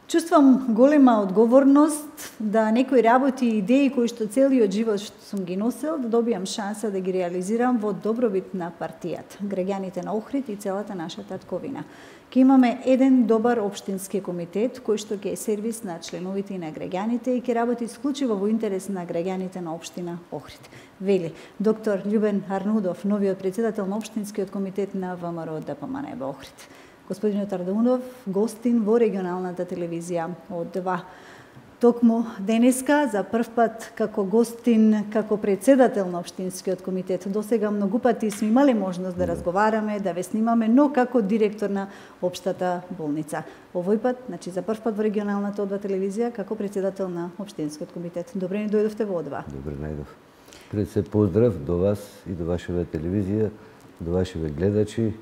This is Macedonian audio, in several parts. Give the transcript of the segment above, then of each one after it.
Чувствам голема одговорност да некои работи и идеи кои што целиот живот што сум ги носел, да добијам шанса да ги реализирам во добробит на партијата, граѓаните на Охрид и целата наша татковина. Ке имаме еден добар општински комитет кој што ќе е сервис на членовите и на граѓаните и ќе работи исклучиво во интерес на граѓаните на општина Охрид. Вели доктор Љубен Арнудов, новиот председател на општинскиот комитет на ВМРО ДПМНЕ во Охрид. Господинот Арнудов, гостин во регионалната телевизија од 2. Токму денеска, за прв пат како гостин, како председател на општинскиот комитет. Досега многу пати сме имале можност да разговараме, да ве снимаме, но како директор на општата болница. Овој пат, значи за прв пат во регионалната од 2 телевизија, како председател на општинскиот комитет. Добре ни дојдовте во од 2. Добре најдов. Пред се поздрав до вас и до вашава телевизија, до вашиве гледачи,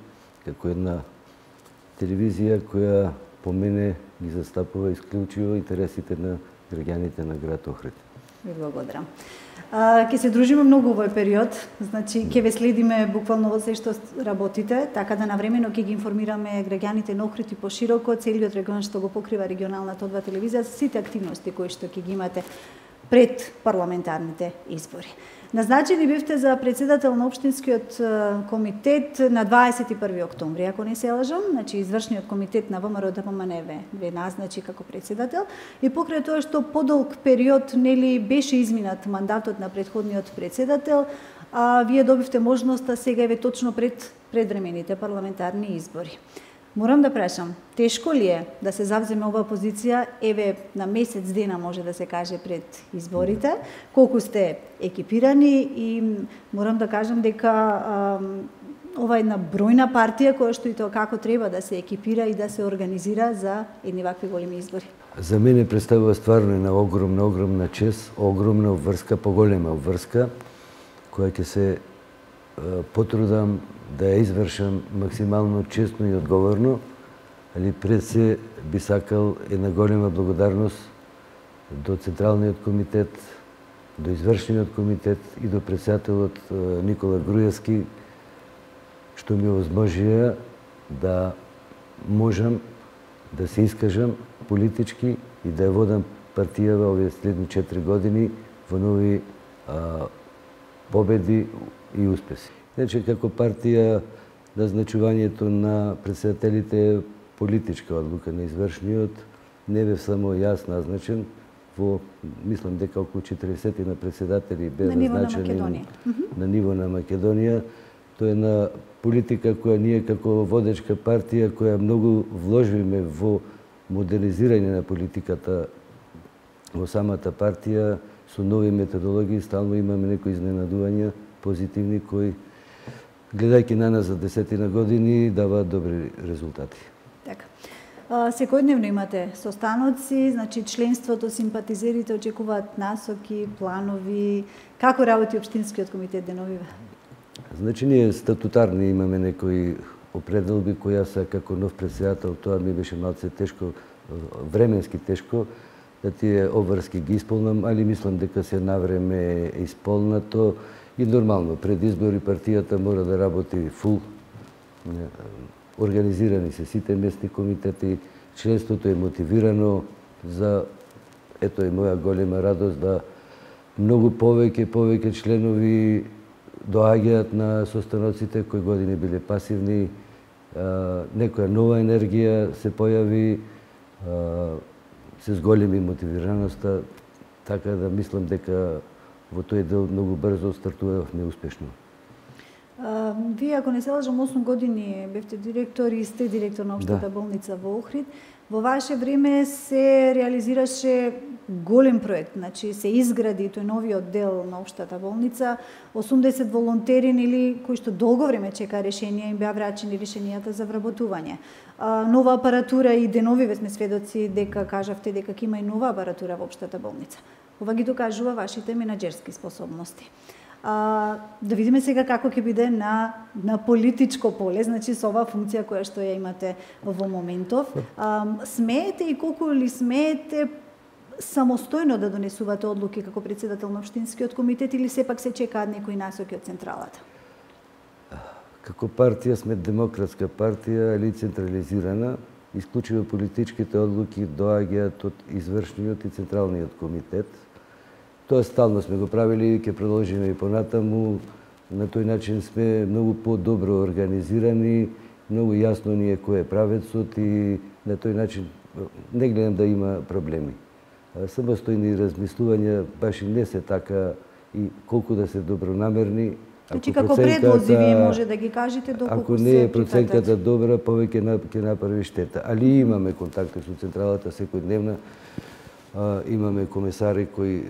како една телевизија која по мене ги застапува исклучиво интересите на граѓаните на град Охрид. Ви благодарам. Ќе се дружиме многу овој период, значи ќе ве следиме буквално во се што работите, така да навремено ќе ги информираме граѓаните на Охрид и пошироко целиот регион што го покрива регионалната од 2 телевизија за сите активности кои што ќе ги имате пред парламентарните избори. Назначени бевте за председател на општинскиот комитет на 21 октомври, ако не се лажам, значи извршниот комитет на ВМРО ДПМНЕ ве назначи како председател и покрај тоа што подолг период нели беше изминат мандатот на претходниот председател, вие добивте можноста сега еве точно пред предвремените парламентарни избори. Морам да прашам, тешко ли е да се завземе оваа позиција, еве на месец дена може да се каже пред изборите, колку сте екипирани и морам да кажам дека ова е една бројна партија која што и тоа како треба да се екипира и да се организира за едни вакви големи избори. За мене представува стварно една огромна чест, огромна обврска, поголема обврска, која ќе се потрудам да ја извршам максимално честно и одговорно, али пред се би сакал една голема благодарност до Централниот комитет, до Извршниот комитет и до председателот Никола Груевски, што ми овозможија да можам да се искажам политички и да ја водам партијава овие следни 4 години во нови победи и успеси. Значи, како партија, назначувањето на председателите е политичка одлука на извршниот. Не бев само јас назначен, мислам дека околу 40 на председатели бе назначени на ниво на Македонија. Тоа е една политика која ние како водечка партија, која многу вложиме во модернизирање на политиката во самата партија, со нови методологии, стално имаме некои изненадувања позитивни кои гледајќи на нас за 10 години даваат добри резултати. Така. Секојдневно имате состаноци, значи членството, симпатизерите очекуваат насоки, планови. Како работи општинскиот комитет деновиве? Значи ние статутарни имаме некои определби кои јас како нов председател, тоа ми беше малце тешко, временски тешко, да тие обврски ги исполнам, али мислам дека се навреме исполнато и нормално. Пред избори партијата мора да работи фул. Организирани се сите местни комитети, членството е мотивирано за, ето е моја голема радост да многу повеќе членови доаѓаат на состаноците кои години биле пасивни, некоја нова енергија се појави, се зголеми мотивираноста, така да мислам дека во тој дел многу брзо стартувавме успешно. Вие, ако не се лажам, 8 години бевте директор и сте директор на општата болница во Охрид. Во ваше време се реализираше голем проект, значи се изгради тој новиот дел на општата болница, 80 волонтери или кои што долго време чека решенија, им беа врачени решенијата за вработување. Нова апаратура и деновиве сме сведоци дека кажавте дека ќе има и нова апаратура во општата болница. Ова ги докажува вашите менаџерски способности. Да видиме сега како ќе биде на политичко поле, значи со оваа функција која што ја имате во моментов. Смеете и колку ли смеете самостојно да донесувате одлуки како председател на општинскиот комитет или сепак се чекаат некои насоки од централата? Како партија сме демократска партија или централизирана. исклучиво политичките одлуки доаѓаат од извршниот и централниот комитет. Тоа стално сме го правили и ќе продолжиме и понатаму. На тој начин сме многу по-добро организирани, многу јасно ни е кој е правецот и на тој начин не гледам да има проблеми. Самостојни размислувања баш и не се така и колку да се добронамерни. Значи како предлози вие може да ги кажете доколку ако не е проценката добра, повеќе ќе направи штета. Али имаме контакти со централата секојдневна. Имаме комесари кои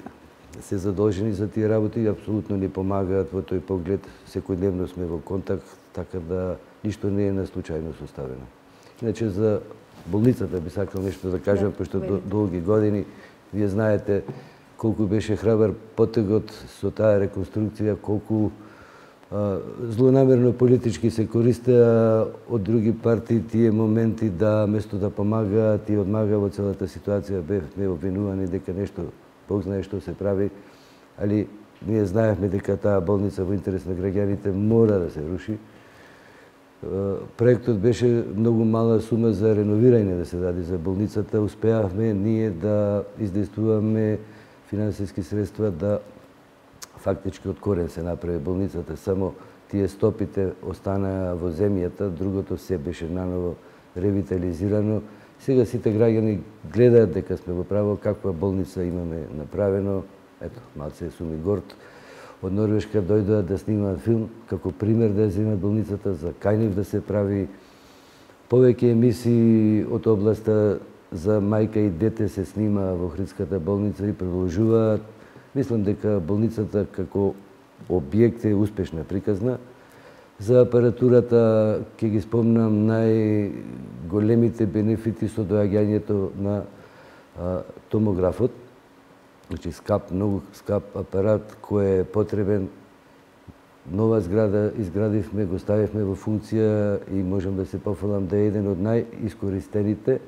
се задолжени за тие работи и апсолутно ни помагаат во тој поглед. Секојдневно сме во контакт, така да ништо не е на случајно составено. Иначе за болницата би сакал нешто да кажам, пошто долги години вие знаете колку беше храбар потегот со таа реконструкција, колку злонамерно политички се користеа од други партии тие моменти да место да помагаат и одмага во целата ситуација бевме обвинувани дека нешто Бог знае што се прави, али ние знаевме дека таа болница во интерес на граѓаните мора да се руши. Проектот беше многу мала сума за реновирање да се даде за болницата. Успеавме ние да издействуваме финансиски средства да фактички од корен се направи болницата. Само тие стопите останаа во земјата, другото се беше наново ревитализирано. Сега сите граѓани гледаат дека сме во право, каква болница имаме направено. Ето, малце сум и горд. Од Норвешка дојдоа да снимаат филм, како пример да ја земат болницата, за кај нив да се прави. Повеќе емисии од областа за мајка и дете се снима во Охридската болница и продолжуваат. Мислам дека болницата како објект е успешна приказна. За апаратурата ќе ги спомнам најголемите бенефити со доаѓањето на томографот. Значи многу скап апарат кој е потребен. Нова зграда изградивме, го ставивме во функција и можам да се пофалам да е еден од најискористените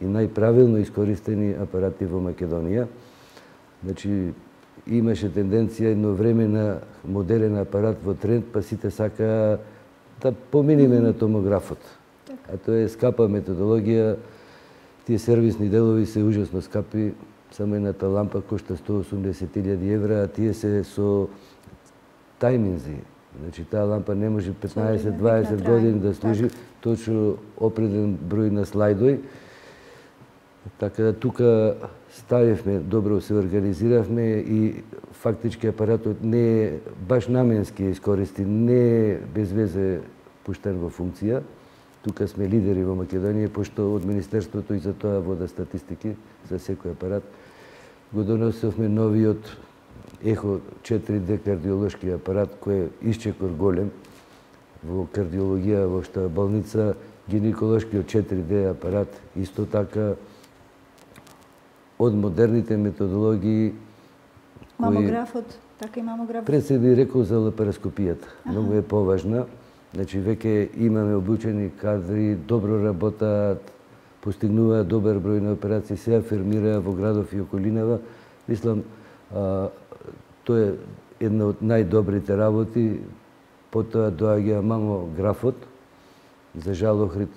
и најправилно искористени апарати во Македонија. Значи имаше тенденција едно време на модерен апарат во тренд, па сите сакаа да поминиме на томографот. А тоа е скапа методологија, тие сервисни делови се ужасно скапи, само едната лампа кошта 180.000 евра, а тие се со тајминзи. Значи таа лампа не може 15-20 години да служи, точно опреден број на слайдој. Така да тука ставивме, добро се организиравме и фактички апаратот не е баш наменски искористи, не е без везе пуштен во функција. Тука сме лидери во Македонија, пошто од Министерството и за тоа вода статистики за секој апарат. Го донесовме новиот Ехо 4D кардиолошки апарат, кој е исчекор голем во кардиологија во што болница, гинеколошкиот 4D апарат, исто така од модерните методологии. Мамографот, така и мамографот. Пред се би рекол за лапароскопијата. Многу е поважна. Значи, веќе имаме обучени кадри, добро работаат, постигнуваат добар број на операции, се афирмираат во градов и околинава. Мислам, тоа е една од најдобрите работи. Потоа доаѓа мамографот. За жал, Охрид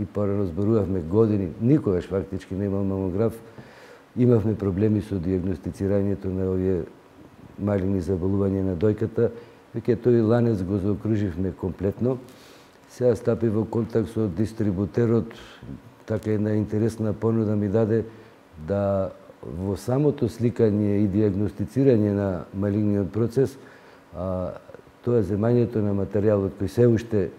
и порано зборувавме години, никогаш фактички не имал мамограф. Имавме проблеми со диагностицирањето на овие малигни заболувања на дојката. Веќе тој ланец го заокруживме комплетно. Сега стапи во контакт со дистрибутерот, така една интересна понуда ми даде да во самото сликање и диагностицирање на малигниот процес, тоа земањето на материјалот кој се уште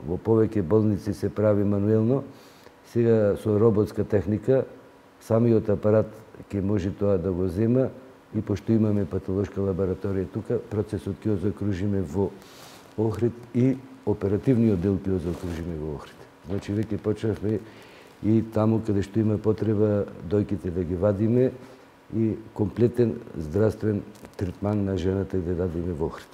во повеќе болници се прави мануелно, сега со роботска техника, самиот апарат ќе може тоа да го зема и пошто имаме патолошка лабораторија тука, процесот ќе го закружиме во Охрид и оперативниот дел ќе го закружиме во Охрид. Значи веќе почнавме и таму каде што има потреба дојките да ги вадиме и комплетен здравствен третман на жената и да дадиме во Охрид.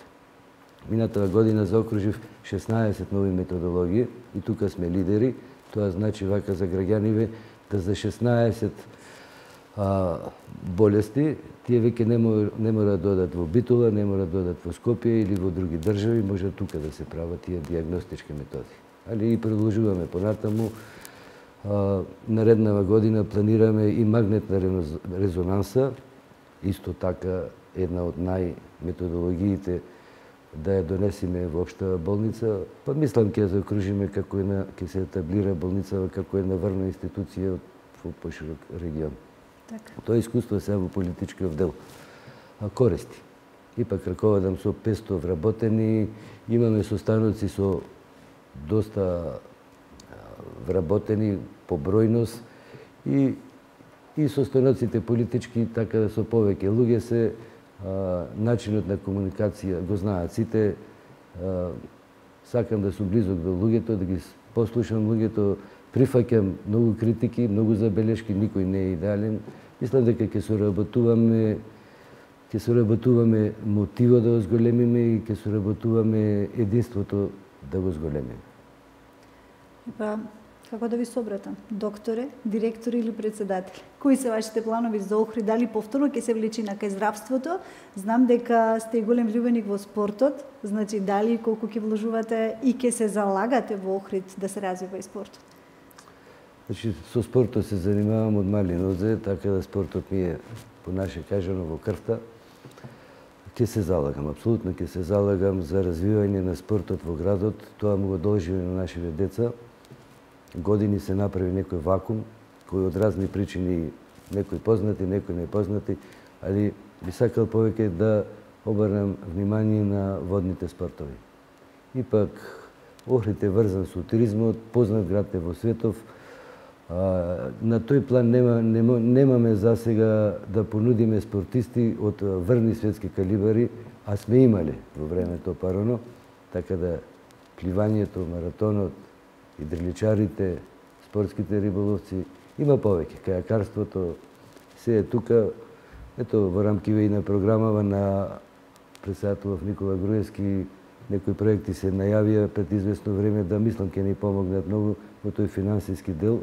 Минатава година заокружив 16 нови методологии и тука сме лидери. Тоа значи вака за граѓаниве да за 16 болести тие веќе не мора да додат во Битола, не мора да додат во Скопје или во други држави, може тука да се прават тие диагностички методи. али и продолжуваме понатаму. Нареднава година планираме и магнетна резонанса, исто така една од најметодологиите да ја донесеме во општа болница, па мислам ќе ја заокружиме како една, ќе се етаблира болницава како една врна институција во поширок регион. Така. Тоа искуство се во политичкиот дел користи. Ипак раководам со 500 вработени, имаме состаноци со доста вработени по бројност и состаноците политички така со повеќе луѓе се начинот на комуникација го знаат сите. Сакам да сум близок до луѓето, да ги послушам луѓето, прифаќам многу критики, многу забелешки, никој не е идеален. Мислам дека ќе соработуваме мотивот да го зголемиме и ќе соработуваме единството да го зголемиме. Па, како да ви собратам? Докторе, директори или председатели? Кои се вашите планови за Охрид? Дали повторно ќе се влечи на кај здравството? Знам дека сте голем љубеник во спортот, значи дали колку ќе вложувате и ќе се залагате во Охрид да се развива и спортот? Значи, со спортот се занимавам од мали нозе, така да спортот ми е, по наше кажано, во крвта. Ќе се залагам, апсолутно ќе се залагам за развивање на спортот во градот. Тоа му го должиме на нашите деца. Години се направи некој вакуум, кој од разни причини, некои познати, некои непознати, али би сакал повеќе да обрнам внимание на водните спортови. Ипак, Охрид е врзан со туризмот, познат град е во светов. На тој план немаме за сега да понудиме спортисти од врни светски калибари, а сме имале во времето парано, така да пливањето, маратонот, идриличарите, спортските риболовци, има повеќе. Кајакарството, се е тука. Ето, во рамкиве и на програмава на председателов Никола Груевски, некои проекти се најавија пред известно време, да мислам ќе ни помогнат многу во тој финансиски дел,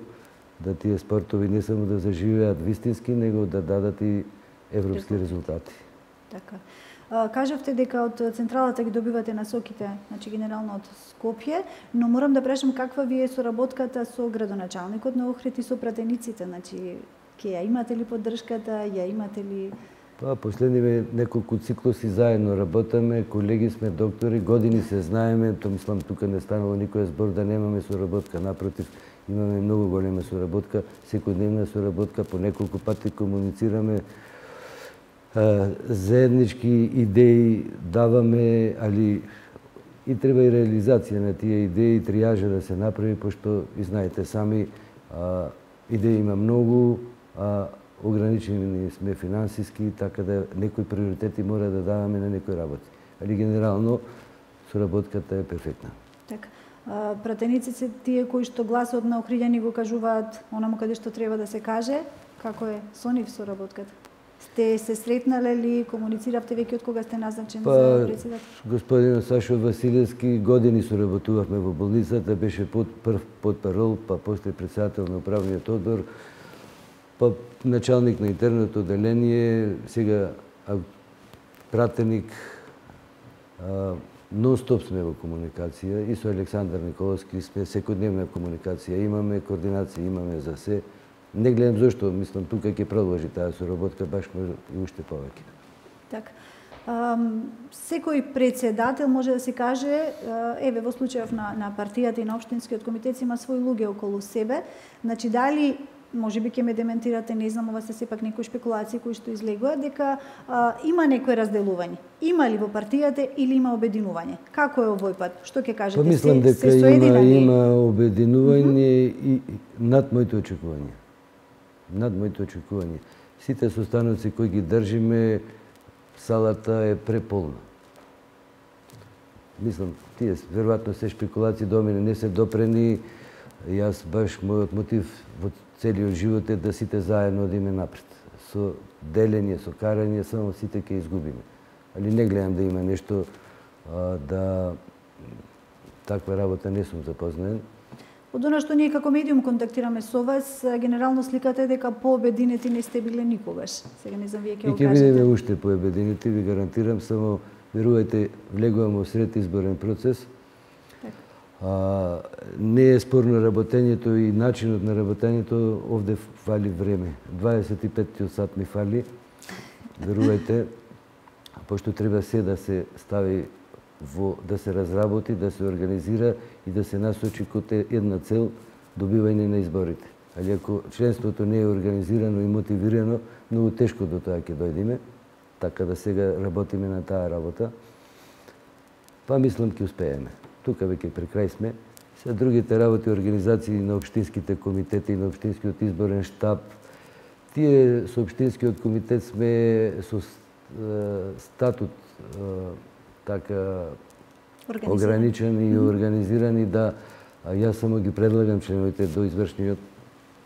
да тие спортови не само да заживеат вистински, него да дадат и европски резултати. Така. Кажавте дека од централата ги добивате насоките, значи генерално од Скопје, но морам да прашам каква ви е соработката со градоначалникот на Охрид и со пратениците, значи ќе ја имате ли поддршката, ја имате ли? Па, последниве неколку циклуси заедно работаме, колеги сме доктори, години се знаеме, то мислам тука не станало никој збор да немаме соработка, напротив, имаме многу голема соработка, секојдневна соработка, по неколку пати комуницираме, заеднички идеи даваме, али и треба и реализација на тие идеи, триажа да се направи, пошто и знаете сами, идеи има многу, ограничени сме финансиски, така да некои приоритети мора да даваме на некои работи. Али генерално соработката е перфектна. Така. Пратениците тие кои што гласот на охриѓани го кажуваат онаму каде што треба да се каже, како е со нив соработката? Сте се сретнале ли, комунициравте веќе од кога сте назначен за председател? Господин Сашо Василевски, години соработувавме во болницата, беше прв потпарол, па после председател на управниот одбор, па началник на интерното одделение, сега пратеник. Нон-стоп сме во комуникација и со Александар Николовски сме секојдневна комуникација, имаме координација, имаме за се. Не гледам зошто, мислам тука ќе продолжи таа соработка, баш може и уште повеќе. Така. Секој председател може да се каже, еве во случајов на партијата и на општинскиот комитет има свои луѓе околу себе. Значи дали може би ќе ме дементирате, не знам, ова се сепак некои шпекулации кои што излегуваат, дека има некој разделување. Има ли во партијата или има обединување? Како е овој пат? Што ќе кажете? Мислам дека има обединување и над моите очекувања. Над моите очекувања. Сите состаноци кои ги држиме, салата е преполна. Мислам, тие веројатно се шпекулации до мене не се допрени. Јас баш мојот мотив во целиот живот е да сите заедно одиме напред. Со делење, со карање, само сите ќе изгубиме. Али не гледам да има нешто да таква работа не сум запознаен. Од она што ние како медиум контактираме со вас, генерално сликата е дека пообединети не сте биле никогаш. Сега не знам вие ќе го кажете. И ќе видиме уште пообединети, ви гарантирам, само верувајте, влегуваме во сред изборен процес. Не е спорно работењето и начинот на работењето, овде фали време. 25 сат ми фали, верувајте, пошто треба се да се стави да се разработи, да се организира и да се насочи кон една цел, добивање на изборите. Али ако членството не е организирано и мотивирано, многу тешко до тоа ќе дојдеме, така да сега работиме на таа работа. Па мислам ќе успееме. Тука веќе при крај сме. Се другите работи, организации на општинските комитети, на општинскиот изборен штаб, тие со општинскиот комитет сме со статут така ограничен и организирани да јас само ги предлагам членовите до извршниот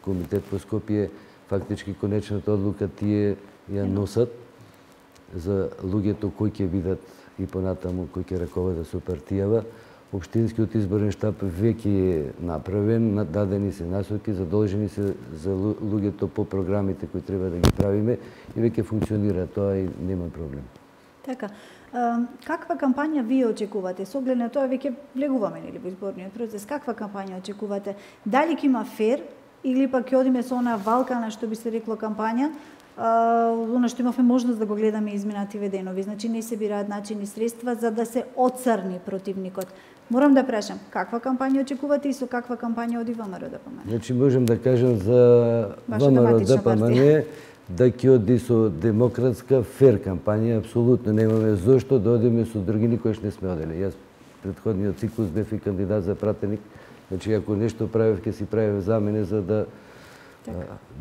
комитет по Скопје, фактички конечната одлука тие ја носат за луѓето кои ќе бидат и понатаму кои ќе раководат со партијава. Општинскиот изборен штаб веќе е направен, дадени се насоки, задолжени се за луѓето по програмите кои треба да ги правиме и веќе функционира тоа и нема проблем. Така, каква кампања вие очекувате? Со оглед на тоа веќе влегуваме нели во изборниот процес. Каква кампања очекувате? Дали ќе има фер или пак ќе одиме со она валкана што би се рекло кампања? Оно што имавме можност да го гледаме изминативе денови. Значи не се бираат начини средства за да се оцрни противникот. Морам да прашам, каква кампања очекувате и со каква кампања оди ВМРО ДПМН? Значи можем да кажем за ВМРО ДПМН да ќе оди со демократска фер кампања, апсолутно немаме зошто да одиме со други, никош не сме одели. Јас претходниот циклус бев и кандидат за пратеник, значи ако нешто правев, ќе си правев за мене за да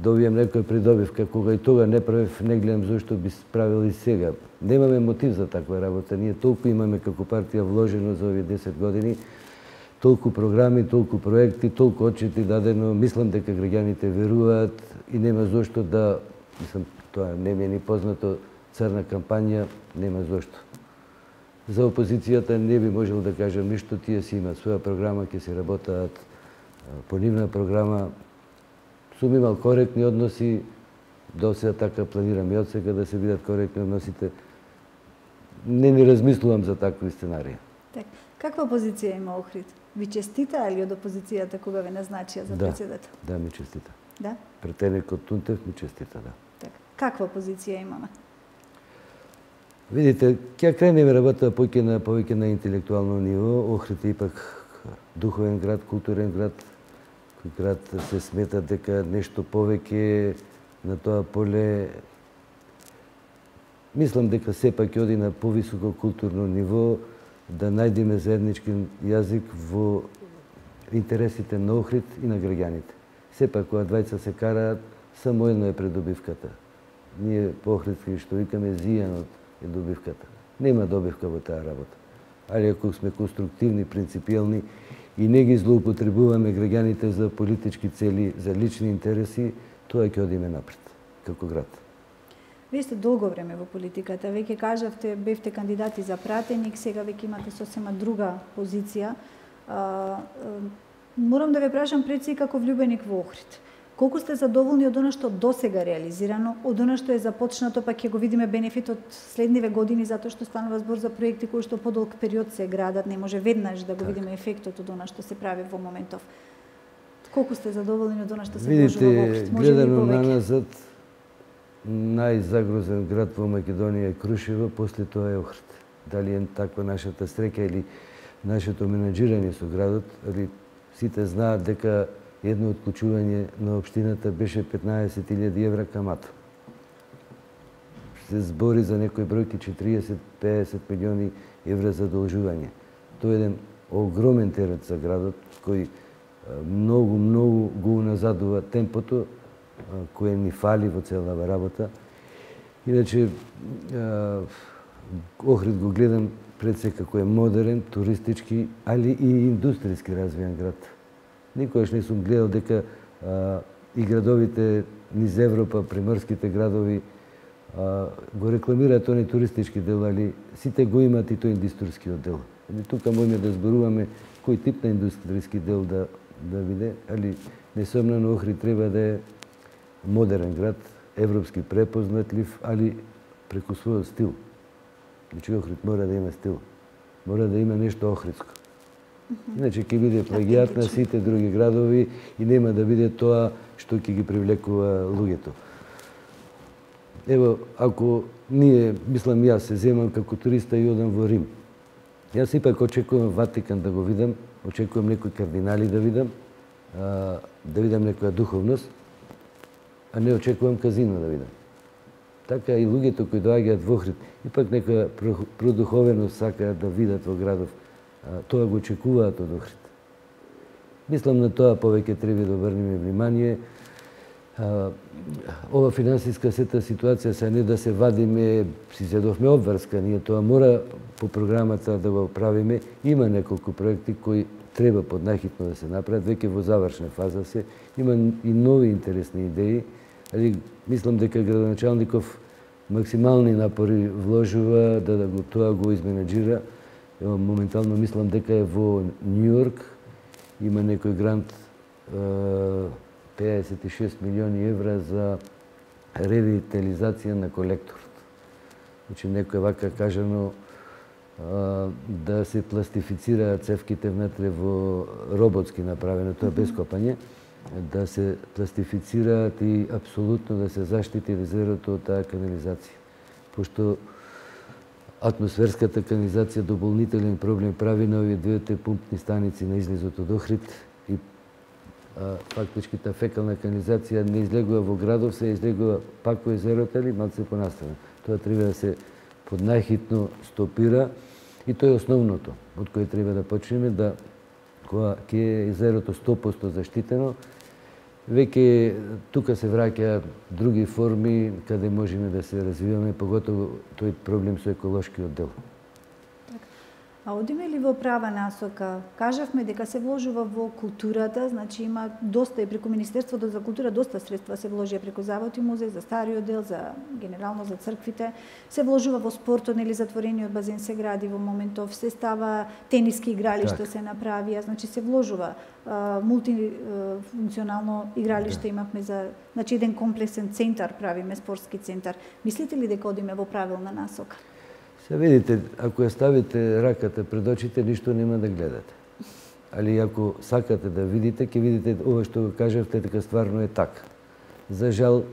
добием некој придобивка. Кога и тога не правев, не гледам зошто би правил и сега. Немаме мотив за таква работа. Ние толку имаме како партија вложено за овие 10 години, толку програми, толку проекти, толку отчети дадено. Мислам дека граѓаните веруваат и нема зошто да, мислам, тоа не ми е ни познато, црна кампања, нема зошто. За опозицијата не би можел да кажам ништо, тие си имаат своја програма, ќе се работаат по нивна програма. Сум имал коректни односи, до сега така планирам и од сега да се бидат коректни односите. Не ни размислувам за такви сценарии. Так, каква позиција има Охрид? Ви честита или од опозицијата кога ве назначија за председател? Да, ми честита. Да? Претеникот Тунтев ми честита, да. Так, каква позиција имаме? Видите, ќе кренеме работа повеќе на интелектуално ниво. Охрид е ипак духовен град, културен град, град се смета дека нешто повеќе на тоа поле. Мислам дека сепак ќе оди на повисоко културно ниво, да најдеме заеднички јазик во интересите на Охрид и на граѓаните. Сепак кога двајца се караат, само едно е придобивката. Ние по охридски што викаме зијанот е добивката. Нема добивка во таа работа. Али ако сме конструктивни, принципиелни и не ги злоупотребуваме граѓаните за политички цели, за лични интереси, тоа ќе одиме напред, како град. Вие сте долго време во политиката, веќе кажавте, бевте кандидати за пратеник, сега веќе имате сосема друга позиција. Морам да ве прашам пред се како влюбеник во Охрид. Колку сте задоволни од она што досега реализирано, од она што е започнато, па ќе го видиме бенефитот следниве години, затоа што станува збор за проекти кои што подолг период се градат, не може веднаш да го видиме ефектот од она што се прави во моментов. Колку сте задоволни од она што се вложува во Охрид? Видите, гледано наназад, најзагрозен град во Македонија е Крушево, после тоа е Охрид. Дали е таква нашата среќа или нашето менаџирање со градот, али сите знаат дека едно отклучување на општината беше 15.000 евра камата. Се збори за некои бројки 40-50 милиони евра задолжување. Тоа е еден огромен терет за градот, кој многу го уназадува темпото кое ни фали во целава работа. Иначе, Охрид го гледам пред се како е модерен, туристички, али и индустријски развиен град. Никогаш не сум гледал дека и градовите низ Европа, приморските градови, го рекламираат тони туристички дел, али сите го имаат и тој индустријскиот дел. Тука можеме да зборуваме кој тип на индустријски дел да биде, али несомнено Охрид треба да е модерен град, европски препознатлив, али преку својот стил. Значи Охрид мора да има стил. Мора да има нешто охридско. Иначе ќе биде плагиат на сите други градови и нема да биде тоа што ќе ги привлекува луѓето. Ево, ако ние, мислам јас, се земам како туриста и одам во Рим. Јас ипак очекувам Ватикан да го видам, очекувам некои кардинали да видам некоја духовност, а не очекувам казино да видам. Така и луѓето кои доаѓаат во Охрид, ипак некоја продуховеност сакаат да видат во градов, тоа го очекуваат од Охрид. Мислам на тоа повеќе треба да обрнеме внимание. Ова финансиска сета ситуација се не да се вадиме, си зедовме обврска, ние тоа мора по програмата да го правиме. Има неколку проекти кои треба поднајхитно да се направат, веќе во завршна фаза се. Има и нови интересни идеи, али мислам дека градоначалников максимални напори вложува да тоа го изменеджира. Моментално мислам дека е во Њујорк, има некој грант 56 милиони евра за ревитализација на колекторот. Значи, некој вака кажано да се пластифицираат цевките внатре во роботски направено, тоа без копање, да се пластифицираат и апсолутно да се заштити резервото од таа канализација. Пошто атмосферската канализација дополнителен проблем прави на овие двете пумпни станици на излезот од Охрид и фактички таа фекална канализација не излегува во градов, се излегува пак во езерото или малце понастрана. Тоа треба да се поднајхитно стопира и тоа е основното од кое треба да почнеме, да кога ќе е езерото 100% заштитено, веќе тука се враќаат други форми каде можеме да се развиваме, поготово тој проблем со еколошкиот дел. А одиме ли во права насока? Кажавме дека се вложува во културата, значи има доста и преку Министерството за култура доста средства се вложија преку Завод и музеј за стариот дел, за генерално за црквите. Се вложува во спортот, нели затворениот базен се гради во моментов, се става тениски игралишта се направија, значи се вложува мултифункционално игралиште имавме за, значи еден комплексен центар правиме, спортски центар. Мислите ли дека одиме во правилна насока? Се видите, ако ја ставите раката пред очите, ништо нема да гледате. Али ако сакате да видите, ќе видите ова што го кажавте, дека стварно е така. За жал,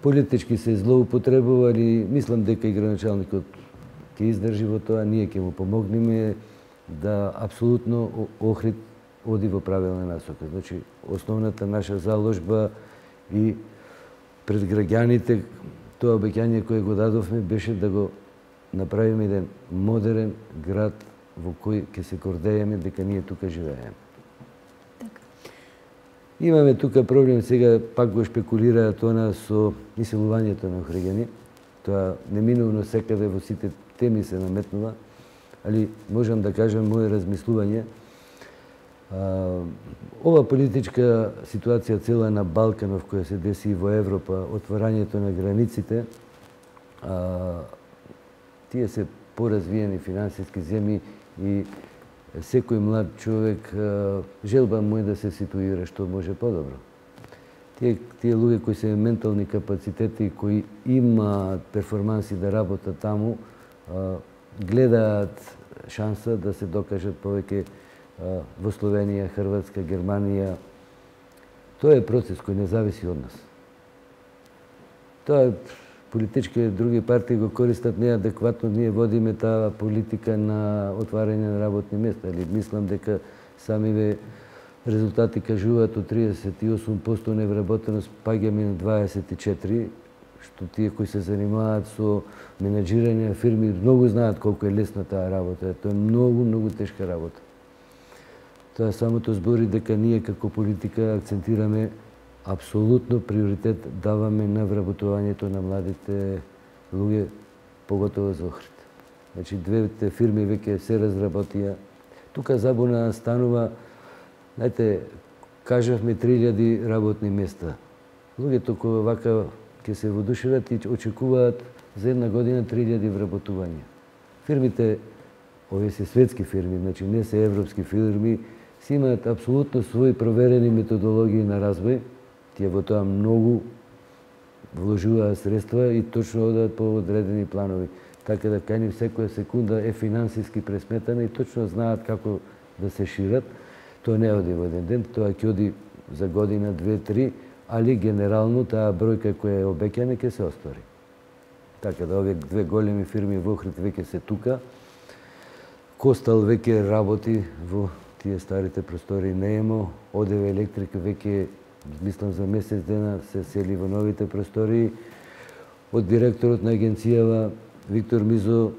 политички се злоупотребували, мислам дека и градоначалникот ќе издржи во тоа, ние ќе му помогнеме да апсолутно Охрид оди во правилна насока. Значи, основната наша заложба и пред граѓаните, тоа обеќање кое го дадовме беше да го направиме еден модерен град во кој ќе се гордееме дека ние тука живееме. Имаме тука проблем, сега пак го шпекулираат она со исилувањето на охриѓани. Тоа неминовно секаде во сите теми се наметнува, али можам да кажам моје размислување. Ова политичка ситуација цела на Балканов која се деси и во Европа, отворањето на границите, тие се поразвиени финансиски земји и секој млад човек желба му е да се ситуира што може подобро. Тие луѓе кои се ментални капацитети, кои имаат перформанси да работат таму, гледаат шанса да се докажат повеќе во Словенија, Хрватска, Германија. Тоа е процес кој не зависи од нас. Тоа политички други партии го користат неадекватно, ние водиме таа политика на отварање на работни места. Мислам дека самиве резултати кажуваат од 38% невработеност паѓаме на 24%, што тие кои се занимаваат со менеджирање на фирми многу знаат колку е лесна таа работа. Тоа е многу тешка работа. Тоа самото збори дека ние како политика акцентираме апсолутно приоритет даваме на вработувањето на младите луѓе, поготово за Охрид. Значи, двете фирми веќе се разработија. Тука забуна станува, знаете, кажавме 3000 работни места. Луѓето кои вака ќе се водушеват и очекуваат за една година 3000 вработувања. Фирмите, овие се светски фирми, значи не се европски фирми, си имаат апсолутно своји проверени методологии на развој. Тие во тоа многу вложуваат средства и точно одат по одредени планови. Така да кај нив секоја секунда е финансиски пресметана и точно знаат како да се шират. Тоа не оди во еден ден, тоа ќе оди за година, 2-3, али генерално таа бројка која е обеќана ќе се оствари. Така да овие две големи фирми во Охрид веќе се тука. Костал веќе работи во тие старите простори Неемо, ОДВ Електрика веќе, мислам за месец дена, се сели во новите простори. Од директорот на агенцијава Виктор Мизо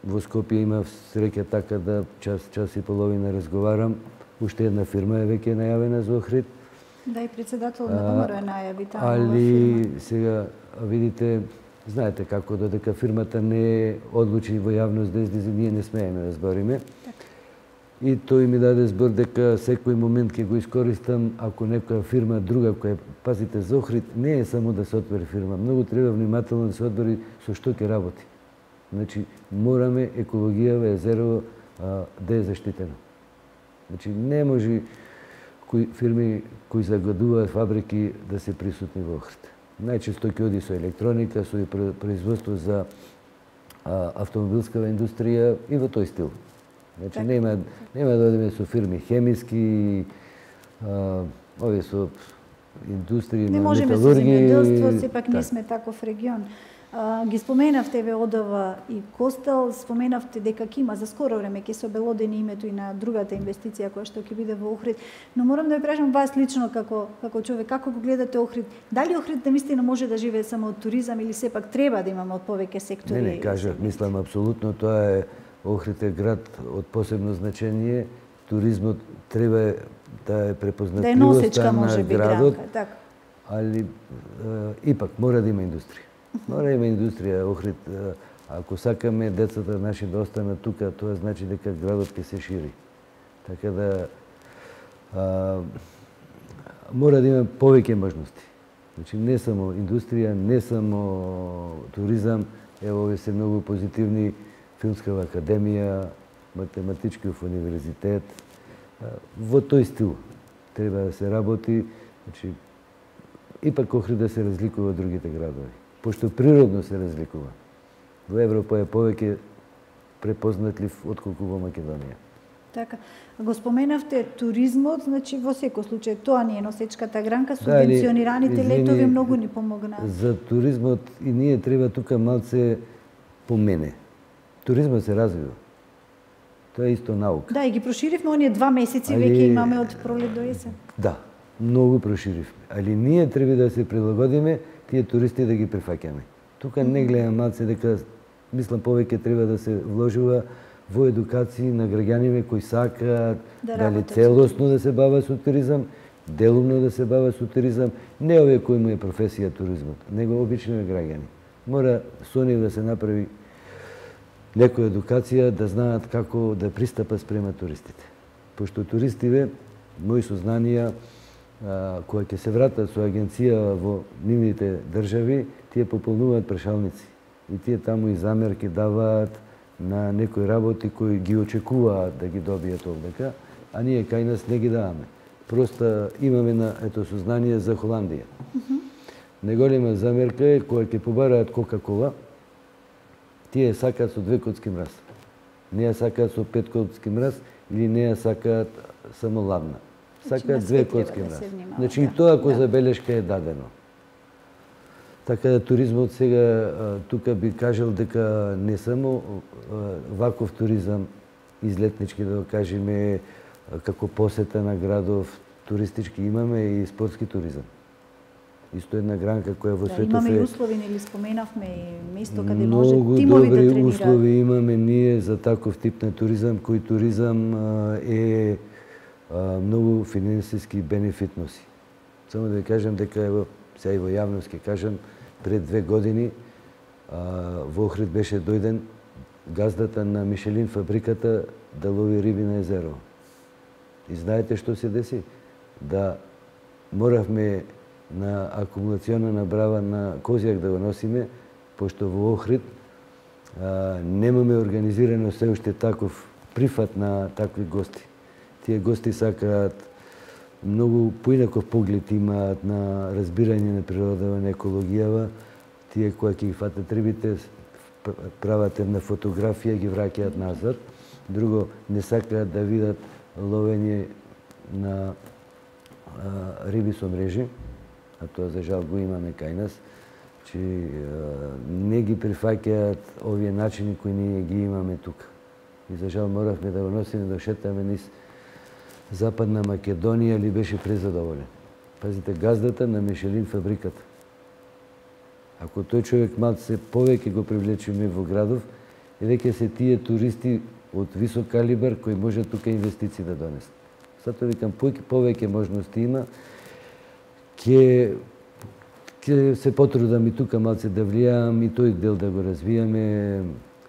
во Скопје имав среќа така да час и половина разговарам. Уште една фирма е веќе најавена за Охрид. Да, и председател на ВМРО е најави таа нова али фирма. сега видите, знаете како додека фирмата не одлучи во јавност да излезе, ние не смееме да збориме. И тој ми даде збор дека секој момент ќе го искористам ако некоја фирма друга која, пазите, за Охрид не е само да се отвори фирма, многу треба внимателно да се одбори со што ќе работи. Значи, мораме екологијава, езерово да е заштитено. Значи, не може фирми кои загадуваат фабрики да се присутни во Охрид. Најчесто ќе оди со електроника, со производство за автомобилска индустрија и во тој стил. Значи, нема да одиме со фирми хемиски, овие со индустрии на металургија. Не можеме со земјоделство, сепак не сме таков регион. Ги споменавте ОДВ и Костел, споменавте дека ќе има за скоро време ќе се обелодени името и на другата инвестиција која што ќе биде во Охрид, но морам да ве прашам вас лично како човек, како го гледате Охрид? Дали Охрид наистина може да живее само од туризам или сепак треба да имаме од повеќе сектори? Не, кажав, мислам апсолутно, тоа е Охрид е град од посебно значење, туризмот треба да е препознатливоста на градот, али ипак мора да има индустрија. Мора да има индустрија. Охрид, ако сакаме децата наши да останат тука, тоа значи дека градот ќе се шири. Така да мора да има повеќе можности. Значи не само индустрија, не само туризам, ево овие се многу позитивни, Филмскава академија, математичкиот универзитет. Во тој стил треба да се работи, значи ипак Охрид да се разликува од другите градови. Пошто природно се разликува. Во Европа е повеќе препознатлив отколку во Македонија. Така. Го споменавте туризмот, значи во секој случај тоа не е носечката гранка, субвенционираните летови многу ни помогнаа. За туризмот и ние треба тука малце помене. Туризмот се развива. Тоа е исто наука. Да, и ги проширивме оние 2 месеци, веќе имаме од пролет до есен. Да, многу проширивме. Али ние треба да се прилагодиме тие туристи да ги прифаќаме. Тука не гледам малце дека, мислам, повеќе треба да се вложува во едукација на граѓаните кои сакаат дали целосно да се бават со туризам, делумно да се бават со туризам, не овие кои му е професија туризмот, него обични граѓани. Мора со нив да се направи некоја едукација да знаат како да пристапат спрема туристите. Пошто туристиве, мои сознанија, кои ќе се вратат со агенција во нивните држави, тие пополнуваат прашалници. И тие таму и замерки даваат на некои работи кои ги очекуваат да ги добијат овдека, а ние кај нас не ги даваме. Просто имаме на сознание за Холандија. Неголема замерка е која ќе побараат Кока-кола, тие сакаат со 2 коцки мраз. Не ја сакаат со 5 коцки мраз или не ја сакаат само ладна. Сакаат 2 коцки мраз. Значи и тоа ако забелешка е дадено. Така да туризмот сега, тука би кажал дека не само ваков туризам, излетнички да го кажеме, како посета на градов, туристички имаме и спортски туризам. Исто една гранка која во светот имаме и услови, нели споменавме и место каде може тимови да тренираат. Многу добри услови имаме ние за таков тип на туризам, кој туризам е многу финансиски бенефит носи. Само да ви кажам дека ево сега и во јавност ќе кажам, пред 2 години во Охрид беше дојден газдата на Мишелин фабриката да лови риби на езеро. И знаете што се деси? Да моравме на акумулациона набрава на Козјак да го носиме, пошто во Охрид немаме организирано се уште таков прифат на такви гости. Тие гости сакаат многу поинаков поглед имаат на разбирање на природава, на екологијава. Тие кои ќе ги фатат рибите, прават една фотографија, ги враќаат назад. Друго, не сакаат да видат ловење на риби со мрежи, а тоа за жал го имаме кај нас, че не ги прифаќаат овие начини кои ние ги имаме тука. И за жал моравме да го носиме, да шетаме низ Западна Македонија, или беше презадоволен. Пазите, газдата на Мишелин фабриката. Ако тој човек малце повеќе го привлечеме во градов, и веќе се тие туристи од висок калибар кои може тука инвестиции да донесат. Затоа викам, повеќе можности има, ќе се потрудам и тука малце да влијам и тој дел да го развијаме.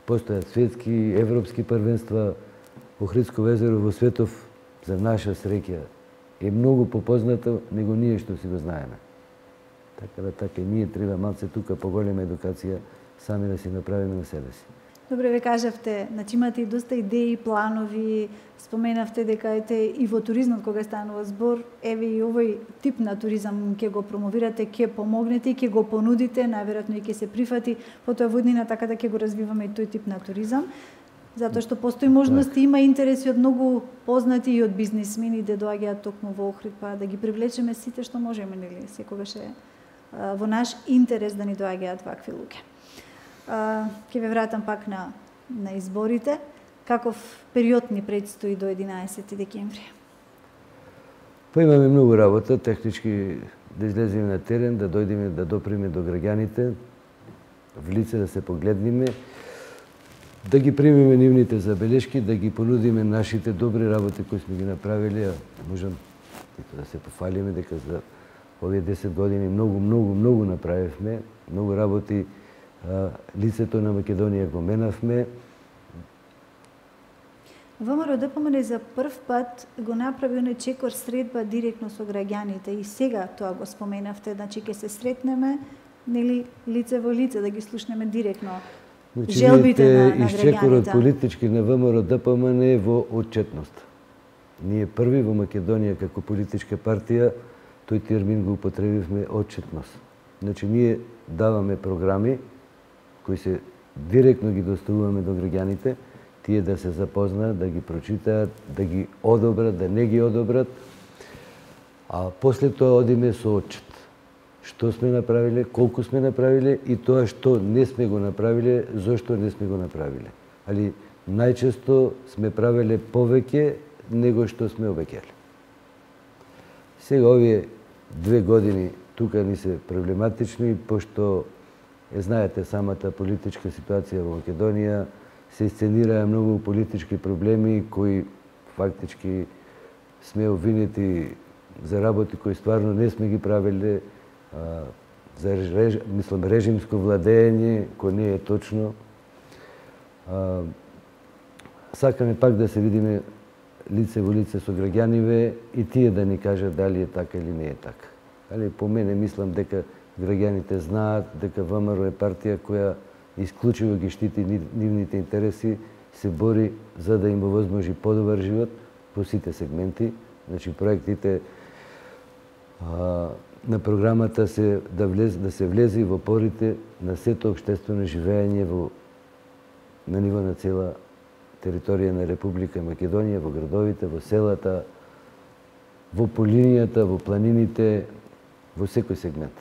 Постојат светски, европски првенства. Охридско езеро во светов, за наша среќа, е многу попознато него ние што си го знаеме. Така да така ние треба малце тука поголема едукација сами да си направиме на себе си. Добре, ве кажавте, значи имате и доста идеи, планови, споменавте дека и во туризмот кога станува збор, еве и овој тип на туризам ќе го промовирате, ќе помогнете и ќе го понудите, најверојатно и ќе се прифати потоа во иднина, така да ќе го развиваме и тој тип на туризам. Затоа што постои можности, има интереси од многу познати и од бизнисмени да доаѓаат токму во Охрид, па да ги привлечеме сите што можеме, нели, секогаш е во наш интерес да ни доаѓаат вакви луѓе. Ќе ве вратам пак на изборите. Каков период ни предстои до 11 декември? Па имаме многу работа, технички да излеземе на терен, да дојдеме да доприме до граѓаните, в лице да се погледниме, да ги примеме нивните забелешки, да ги понудиме нашите добри работи кои сме ги направиле, можам да се пофалиме дека за овие 10 години многу направивме, многу работи, лицето на Македонија го менавме. ВМРО ДПМН за прв пат го направи оној чекор средба директно со граѓаните и сега тоа го споменавте, значи ќе се сретнеме, нели, лице во лице, да ги слушнеме директно желбите на граѓаните. Чекорот политички на ВМРО ДПМН е во отчетност. Ние први во Македонија како политичка партија тој термин го употребивме отчетност. Значи ние даваме програми кои се директно ги доставуваме до граѓаните, тие да се запознаат, да ги прочитаат, да ги одобрат, да не ги одобрат, а после тоа одиме со отчет. Што сме направиле, колку сме направиле и тоа што не сме го направиле, зошто не сме го направиле. Али најчесто сме правеле повеќе него што сме обеќале. Сега овие 2 години тука ни се проблематични, пошто знаете самата политичка ситуација во Македонија, се сценираа многу политички проблеми кои фактички сме обвинети за работи кои стварно не сме ги правеле, за режимско владење, кој не е точно. Сакаме пак да се видиме лице во лице со граѓаниве и тие да ни кажат дали е така или не е така. Али по мене мислам дека граѓаните знаат дека ВМРО е партија која исклучиво ги штити нивните интереси, се бори за да им овозможи подобар живот по сите сегменти. Значи проектите на програмата се да се влезе во порите на сето општествено живење на ниво на цела територија на Република Македонија, во градовите, во селата, во полинијата, во планините, во секој сегмент.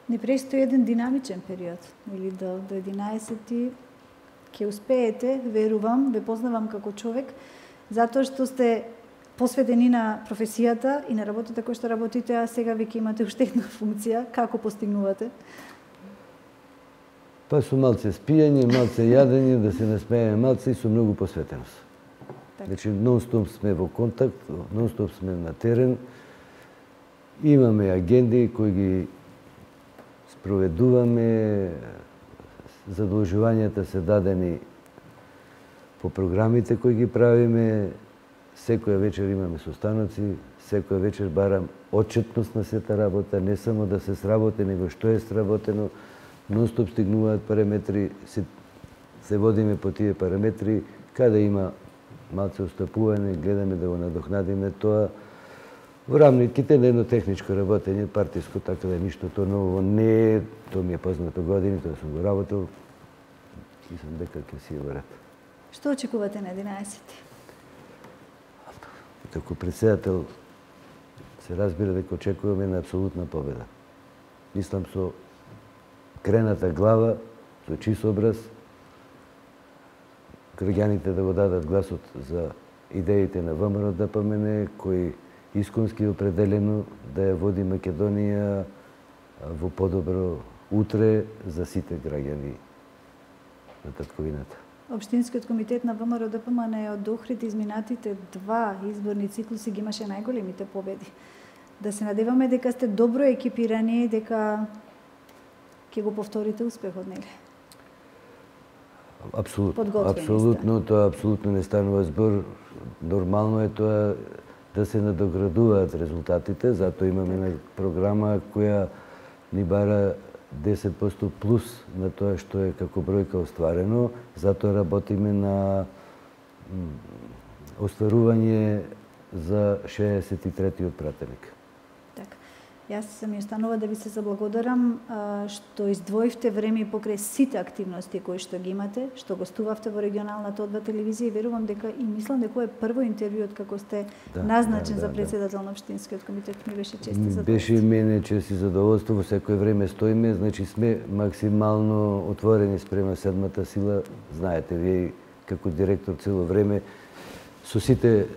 Не престои еден динамичен период, или до 11 ќе успеете, верувам, ве познавам како човек, затоа што сте посветени на професијата и на работата која што работите, а сега веќе имате уште една функција. Како постигнувате? Па со малце спијање, малце јадење, да се насмееме малце и со многу посветеност. Значи, нон-стоп сме во контакт, нон-стоп сме на терен, имаме агенди кои ги спроведуваме, задолжувањата се дадени по програмите кои ги правиме, секоја вечер имаме состаноци, секоја вечер барам отчетност на сета работа, не само да се сработи, него што е сработено, нон-стоп стигнуваат параметри, се водиме по тие параметри, каде има малце остапување, гледаме да го надокнадиме тоа, во рамките на едно техничко работење, партиско, така да ништо тоа ново не е, тоа ми е познато години, тоа сум го работел, мислам дека ќе си е во ред. Што очекувате на 11? како председател се разбира дека очекуваме на апсолутна победа. Мислам со крената глава, со чист образ, граѓаните да го дадат гласот за идеите на ВМРО-ДПМН, кој исконски определено да ја води Македонија во подобро утре за сите граѓани на татковината. Општинскиот комитет на ВМРО-ДПМН од Охрид изминатите 2 изборни циклуси ги имаше најголемите победи. Да се надеваме дека сте добро екипирани, дека ќе го повторите успехот, нели? Апсолутно, тоа апсолутно не станува збор. Нормално е тоа да се надоградуваат резултатите, затоа имаме програма која ни бара 10% плюс на тоа што е како бројка остварено, затоа работиме на остварување за 63-тиот пратеник. Така. Јас ми останува да ви се заблагодарам што издвоивте време покрај сите активности кои што ги имате, што гостувавте во регионалната одва телевизија и верувам дека и мислам дека е прво интервјуот како сте назначен за председател на општинскиот комитет. Ми беше чест и задоволство. Беше мене чест и задоволство, во секое време стоиме, значи сме максимално отворени спрема седмата сила, знаете вие како директор цело време со сите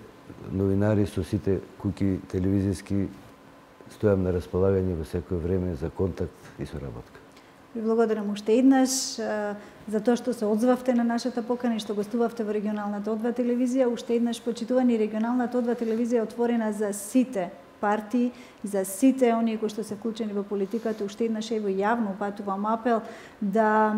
новинари, со сите куќи телевизиски стојам на располагање во секое време за контакт и соработка. Ви благодарам уште еднаш за тоа што се одзвавте на нашата покана и што гостувавте во регионалната одва телевизија. Уште еднаш почитувани, регионалната одва телевизија е отворена за сите партии и за сите оние кои што се вклучени во политиката. Уште еднаш ево јавно упатувам апел да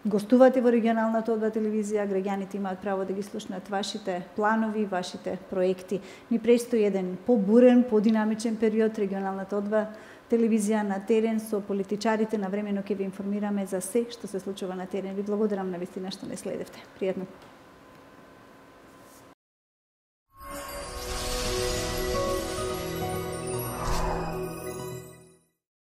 гостувате во регионалната одва телевизија, граѓаните имаат право да ги слушнат вашите планови, вашите проекти. Ни престои еден побурен, подинамичен период. Регионалната одва телевизија на терен со политичарите навремено ќе ви информираме за се што се случува на терен. Ви благодарам навистина што не следевте. Пријатно.